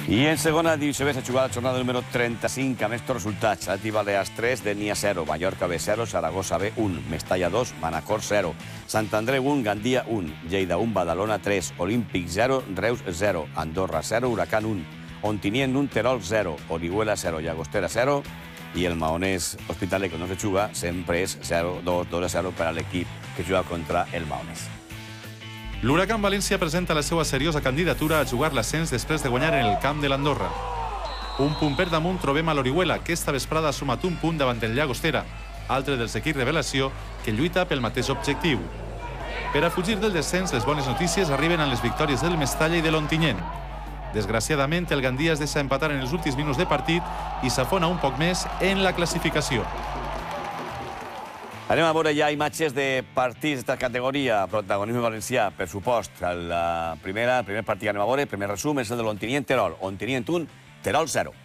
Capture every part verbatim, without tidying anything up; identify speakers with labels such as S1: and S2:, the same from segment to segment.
S1: I en segona divisió B s'ha jugat la jornada número trenta-cinc amb estos resultats. Atleti Balears tres, Denia zero, Mallorca B zero, Saragossa B un, Mestalla dos, Manacor zero, Sant Andreu un, Gandia un, Lleida un, Badalona tres, Olímpic zero, Reus zero, Andorra zero, Huracán un, Ontinyent un, Terol zero, Orihuela zero, Llagostera zero, i el Maonès Hospitalet, que no se juga, sempre és zero dos, dos a zero per a l'equip que juga contra el Maonès.
S2: L'Huracán València presenta la seva seriosa candidatura a jugar l'ascens després de guanyar en el camp de l'Andorra. Un punt per damunt trobem a l'Orihuela, que esta vesprada ha sumat un punt davant el Llagostera, altre dels equips revelació que lluita pel mateix objectiu. Per a fugir del descens, les bones notícies arriben amb les victòries del Mestalla i de l'Ontinyent. Desgraciadament, el Gandia es deixa empatar en els últims minuts de partit i s'afona un poc més en la classificació.
S1: Anem a veure ja imatges de partits d'esta categoria, protagonisme valencià, per supost. La primera, el primer partit que anem a veure, el primer resum, és el de l'Ontinyent-Terol. Ontinyent un, Terol zero.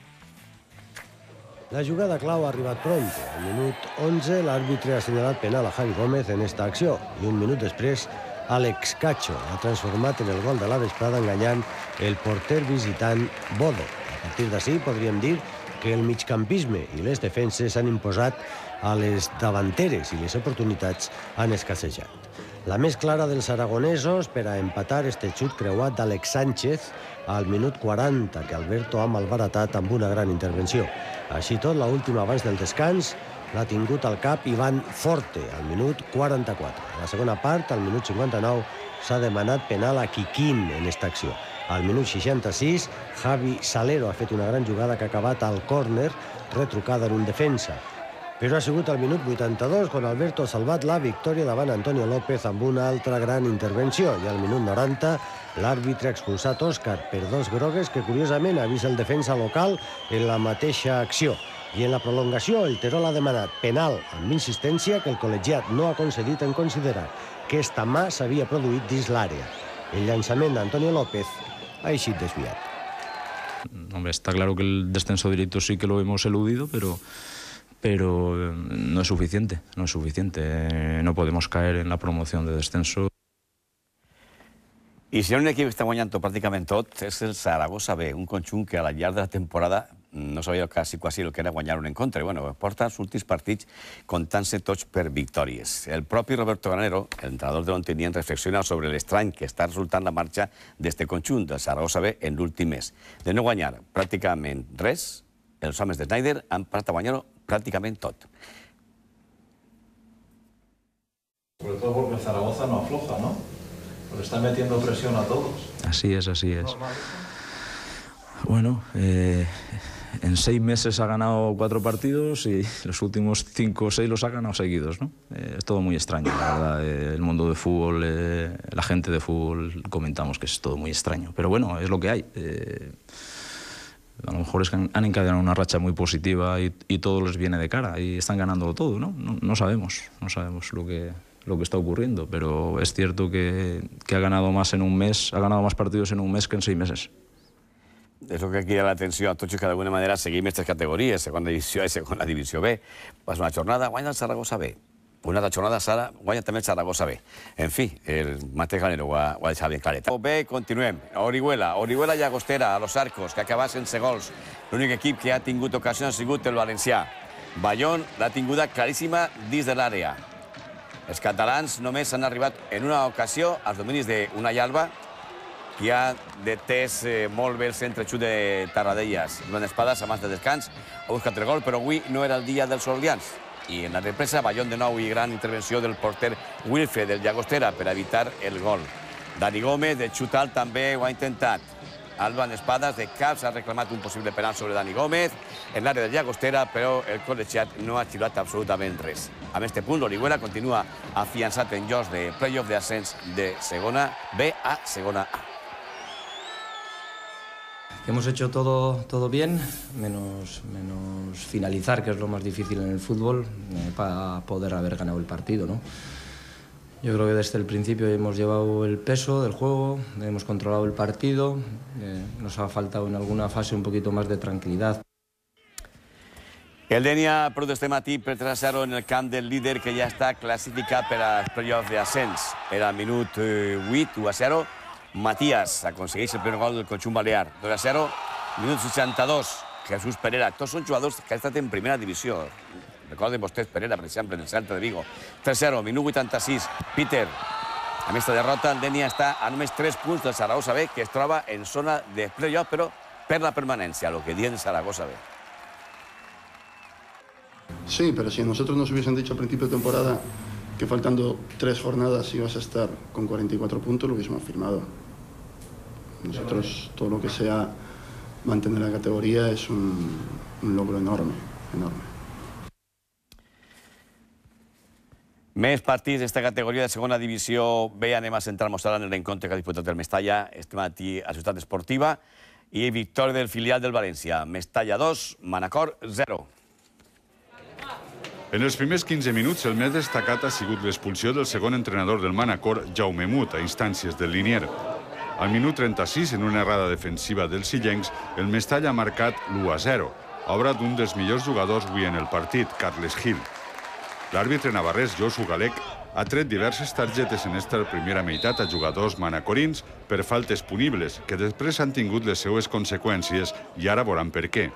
S3: La jugada clau ha arribat pront. Al minut onze, l'àrbitre ha assenyalat penal a Javi Gómez en esta acció. I un minut després, Àlex Cacho ha transformat en el gol de la vesprada enganyant el porter visitant Bodo. A partir d'ací podríem dir que el migcampisme i les defenses han imposat a les davanteres i les oportunitats han escassejat. La més clara dels aragonesos per a empatar este xut creuat d'Àlex Sánchez al minut quaranta, que Alberto ha malbaratat amb una gran intervenció. Així tot, l'última abans del descans l'ha tingut al cap Ivan Forte, al minut quaranta-quatre. A la segona part, al minut cinquanta-nou, s'ha demanat penal a Kikín en esta acció. Al minut seixanta-sis, Javi Salero ha fet una gran jugada que ha acabat al córner, retrucada en un defensa. Però ha sigut al minut vuitanta-dos quan Alberto ha salvat la victòria davant Antonio López amb una altra gran intervenció. I al minut noranta, l'àrbitre ha expulsat Òscar per dos grogues que curiosament ha vist el defensa local en la mateixa acció. I en la prolongació, el Terol ha demanat penal amb insistència que el col·legiat no ha concedit en considerar que esta mà s'havia produït dins l'àrea. El llançament d'Antonio López ha eixit desviat.
S4: Hombre, está claro que el descenso directo sí que lo hemos eludido, pero... pero no es suficiente, no es suficiente. No podemos caer en la promoción de descenso.
S1: I si hi ha un equip que està guanyant pràcticament tot, és el Saragossa B, un conjunt que a la llarg de la temporada no sabia quasi, quasi el que era guanyar un encontre. I, bueno, porta els últims partits comptant-se tots per victòries. El propi Roberto Granero, el entrenador de l'Ontinyent, reflexiona sobre l'estrany que està resultant la marxa d'este conjunt, del Saragossa B, en l'últim mes. De no guanyar pràcticament res, els homes de Snyder han passat a guanyar-ho prácticamente todo.
S5: Sobre todo porque Zaragoza no afloja, ¿no? Porque están metiendo presión a todos.
S4: Así es, así es. Bueno, eh, en seis meses ha ganado cuatro partidos y los últimos cinco o seis los ha ganado seguidos, ¿no? Eh, es todo muy extraño, la verdad. Eh, el mundo de fútbol, eh, la gente de fútbol, comentamos que es todo muy extraño. Pero bueno, es lo que hay. Eh, A lo mejor es que han encadenado una racha muy positiva y, y todo les viene de cara y están ganándolo todo, ¿no? No, no sabemos, no sabemos lo que, lo que está ocurriendo, pero es cierto que, que ha ganado más en un mes, ha ganado más partidos en un mes que en seis meses.
S1: Eso que crida l'atenció a tots que d'alguna manera seguim aquestes categories, segona divisió A i segona divisió B. Passa una jornada, guanya el Saragossa B. Una altra jornada, Sara, guanya també el Saragossa B. En fi, el mateix Granero ho ha, ho ha deixat ben claret. Bé, continuem. Orihuela, Orihuela Llagostera, a los Arcos, que acaba sense gols. L'únic equip que ha tingut ocasió ha sigut el valencià. Bayón l'ha tinguda claríssima dins de l'àrea. Els catalans només han arribat en una ocasió als dominis d'Unai Alba, que ha detès eh, molt bé el centre xut de Tarradellas. Joan Espadas, abans de descans, ha buscat el gol, però avui no era el dia dels orleans. I en la represa, Bayón de nou i gran intervenció del porter Wilfred del Llagostera per evitar el gol. Dani Gómez, de xut alt, també ho ha intentat. Alba en Espadas, de caps, ha reclamat un possible penal sobre Dani Gómez en l'àrea del Llagostera, però el col·legiat no ha xiulat absolutament res. Amb este punt, l'Orihuela continua afiançat en llocs de playoff d'ascens de segona B a segona A.
S6: Hemos hecho todo, todo bien, menos, menos finalizar, que es lo más difícil en el fútbol, eh, para poder haber ganado el partido, ¿no? Yo creo que desde el principio hemos llevado el peso del juego, hemos controlado el partido, eh, nos ha faltado en alguna fase un poquito más de tranquilidad.
S1: El Denia perdut este matí per tres a zero en el camp del líder que ja està classificat per als playoffs d'ascens. Era al minut vuit, u a zero. Matías aconsegueix el primer gol del conjunt balear. dos a zero. Minut seixanta-dos, Jesús Pereira. Tots són jugadors que han estat en primera divisió. Recorden vostès Pereira, per exemple, en el Celta de Vigo. tres zero, minut vuitanta-sis. Peter, amb aquesta derrota, el Denia està a només tres punts del Zaragoza B, que es troba en zona de playoff, però per la permanencia, lo que dice Zaragoza B.
S7: Sí, pero si a nosotros nos hubiesen dicho al principio de temporada que faltando tres jornadas ibas a estar con cuarenta y cuatro puntos, lo hubiésemos firmado. Nosotros, todo lo que sea mantener la categoría es un, un logro enorme, enorme.
S1: Més partits d'esta categoria de segona divisió B. Anem a centrar-nos ara en el reencontre que ha disputat el Mestalla este matí a Ciutat Esportiva i victòria del filial del València. Mestalla dos, Manacor zero.
S2: En els primers quinze minuts, el més destacat ha sigut l'expulsió del segon entrenador del Manacor, Jaume Mut, a instàncies del Linier. Al minut trenta-sis, en una errada defensiva dels sillencs, el Mestalla ha marcat l'u a zero, obra d'un dels millors jugadors avui en el partit, Carles Gil. L'àrbitre navarrès, Josu Galec, ha tret diverses targetes en esta primera meitat a jugadors manacorins per faltes punibles, que després han tingut les seues conseqüències i ara veuran per què.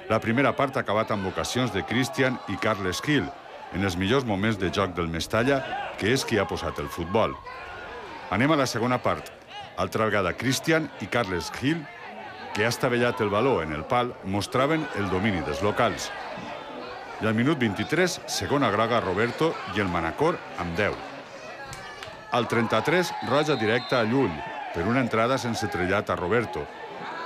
S2: La primera part ha acabat amb ocasions de Cristian i Carles Gil, en els millors moments de joc del Mestalla, que és qui ha posat el futbol. Anem a la segona part. Altra vegada Cristian i Carles Gil, que ha estavellat el baló en el pal, mostraven el domini dels locals. I al minut vint-i-tres, segona groga a Roberto i el Manacor amb deu. Al trenta-tres, roja directa a Llull, per una entrada sense trellat a Roberto.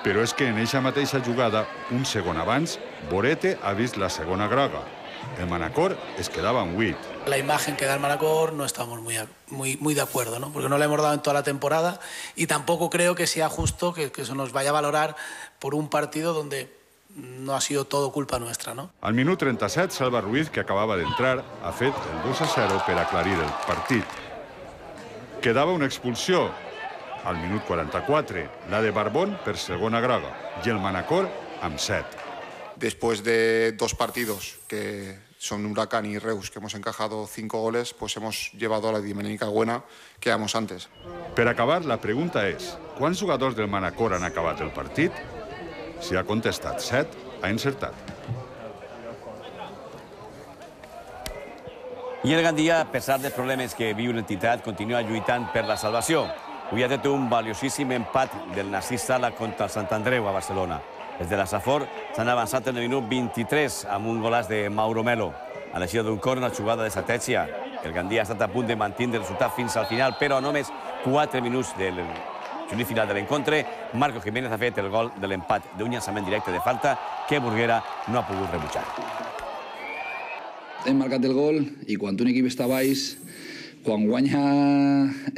S2: Però és que en eixa mateixa jugada, un segon abans, Borete ha vist la segona groga. El Manacor es quedaba en huit.
S8: La imagen que da el Manacor no estamos muy, muy, muy de acuerdo, ¿no? Porque no la hemos dado en toda la temporada y tampoco creo que sea justo que, que se nos vaya a valorar por un partido donde no ha sido todo culpa nuestra, ¿no?
S2: Al minut trenta-set, Salva Ruiz, que acabava d'entrar, ha fet el dos a zero per aclarir el partit. Quedava una expulsió. Al minut quaranta-quatre, la de Barbón per segona groga i el Manacor amb set.
S9: Después de dos partidos que son Huracán y Reus, que hemos encajado cinco goles, pues hemos llevado la dinámica buena que íbamos antes.
S2: Per acabar, la pregunta és, quants jugadors del Manacor han acabat el partit? Si ha contestat set, ha encertat.
S1: I el Gandia, a pesar dels problemes que viu l'entitat, continua lluitant per la salvació. Avui ha fet un valiosíssim empat del Narcís Sala contra el Sant Andreu a Barcelona. Els de la Safor s'han avançat en el minut vint-i-tres amb un golaç de Mauro Melo. A l'eixida d'un córner, una jugada d'estratègia. El Gandia ha estat a punt de mantenir el resultat fins al final, però a només quatre minuts del juny final de l'encontre, Marco Jiménez ha fet el gol de l'empat d'un llançament directe de falta que Burguera no ha pogut rebutjar.
S10: Hem marcat el gol i quan un equip està baix, quan guanya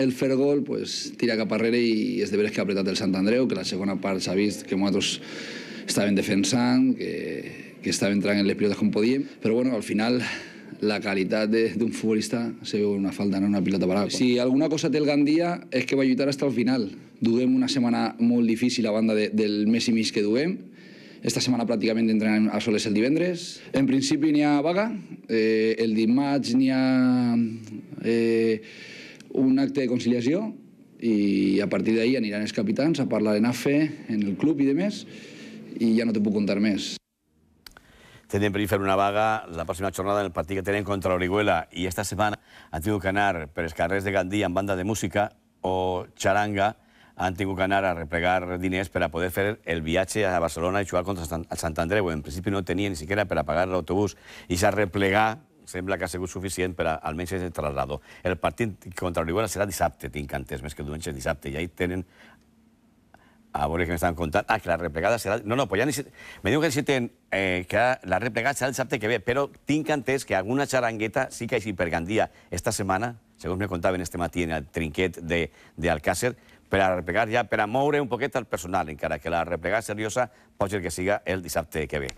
S10: el fer gol, pues, tira cap arrere i és de veres que ha apretat el Sant Andreu, que la segona part s'ha vist que nosaltres estàvem defensant, que, que estàvem entrant en les pilotes com podíem, però bueno, al final la qualitat d'un futbolista se veu una falta, no una pilota parada. Si alguna cosa té el Gandia és que va lluitar fins al final. Duguem una setmana molt difícil a banda de, del mes i mig que duguem. Esta setmana pràcticament entrenem a soles el divendres. En principi n'hi ha vaga. Eh, el dimarts n'hi ha eh, un acte de conciliació i a partir d'ahir aniran els capitans a parlar en A F E, en el club i demés, i ja no te puc contar més.
S1: Tenen per fer una vaga la pròxima jornada en el partit que tenen contra l'Orihuela i esta setmana han tingut que anar per els carrers de Gandia amb banda de música o xaranga, han tingut que anar a replegar diners per a poder fer el viatge a Barcelona i jugar contra el Sant Andreu. En principi no tenien ni siquiera per a pagar l'autobús i s'ha replegar, sembla que ha sigut suficient per a almenys el traslado. El partit contra l'Orihuela serà dissabte, tinc entès, més que diumenge, dissabte, i ahí tenen... A veure què m'estan contant. Ah, que la replegada serà... No, no, pues ja necessiten... Me diu que necessiten que la replegada serà el dissabte que ve, però tinc entès que alguna xarangueta sí que així per Gandia esta setmana, segons me contaven este matí en el trinquet d'Alcàcer, per a replegar ja, per a moure un poquet el personal, encara que la replegada seriosa pot ser que siga el dissabte que ve.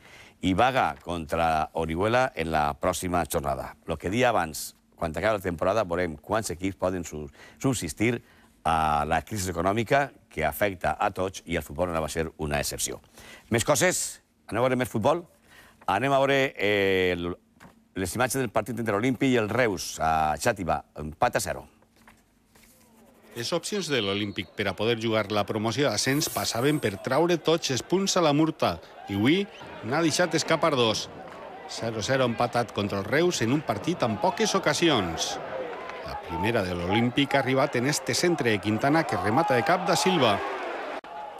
S1: I vaga contra Orihuela en la pròxima jornada. El que dia abans, quan acabi la temporada, veurem quants equips poden subsistir a la crisi econòmica que afecta a tots i el futbol no va ser una excepció. Més coses? Anem a veure més futbol? Anem a veure les imatges del partit entre l'Olímpic i el Reus a Xàtiva, empat a zero.
S11: Les opcions de l'Olímpic per a poder jugar la promoció d'ascens passaven per traure tots els punts a la Murta i avui n'ha deixat escapar dos. zero a zero empatat contra el Reus en un partit amb poques ocasions. La primera de l'Olímpic ha arribat en este centre de Quintana que remata de cap da Silva.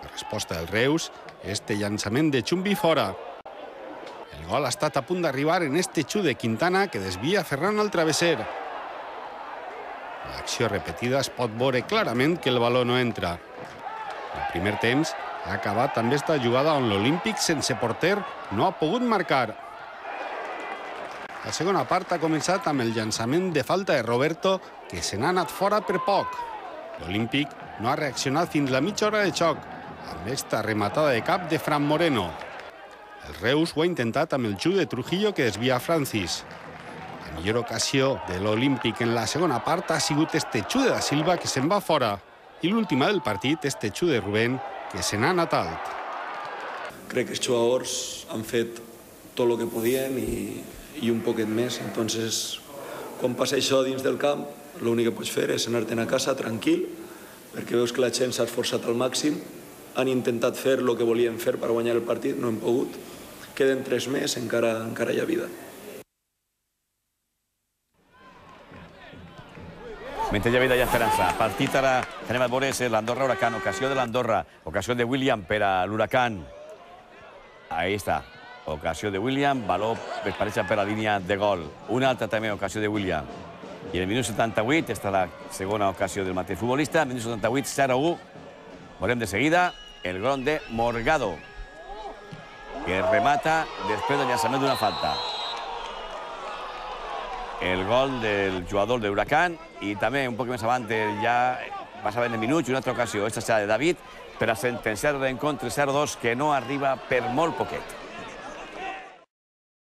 S11: La resposta del Reus, este llançament de Chumbi fora. El gol ha estat a punt d'arribar en este xut de Quintana que desvia Ferran al travesser. L'acció repetida es pot veure clarament que el baló no entra. El primer temps ha acabat també esta jugada on l'Olímpic sense porter no ha pogut marcar. La segona part ha començat amb el llançament de falta de Roberto que se n'ha anat fora per poc. L'Olímpic no ha reaccionat fins la mitja hora de xoc amb esta rematada de cap de Fran Moreno. El Reus ho ha intentat amb el xut de Trujillo que desvia Francis. La millor ocasió de l'Olímpic en la segona part ha sigut este xut de da Silva que se'n va fora i l'última del partit, este xut de Rubén que se n'ha anat alt.
S12: Crec que els jugadors han fet tot el que podien i, i un poquet més. Entonces, quan passa això dins del camp, l'únic que pots fer és anar-te'n a casa tranquil, perquè veus que la gent s'ha esforçat al màxim, han intentat fer el que volien fer per guanyar el partit, no hem pogut. Queden tres més, encara, encara hi ha vida.
S1: Mentre hi ha vida i esperança. Partit ara, anem a veure l'Andorra Huracán. Ocasió de l'Andorra. Ocasió de William per a l'Huracán. Ahí està. Ocasió de William. Baló es pareja per la línia de gol. Una altra també ocasió de William. I en el minut setanta-vuit, esta és la segona ocasió del mateix futbolista. Minut setanta-vuit, zero a u. Veurem de seguida el gol de Morgado, que remata després del llançament d'una falta. El gol del jugador de Huracán i també un poc més avant ja passaven en minuts i una altra ocasió. Esta serà de David per a sentenciar l'encontre zero a dos que no arriba per molt poquet.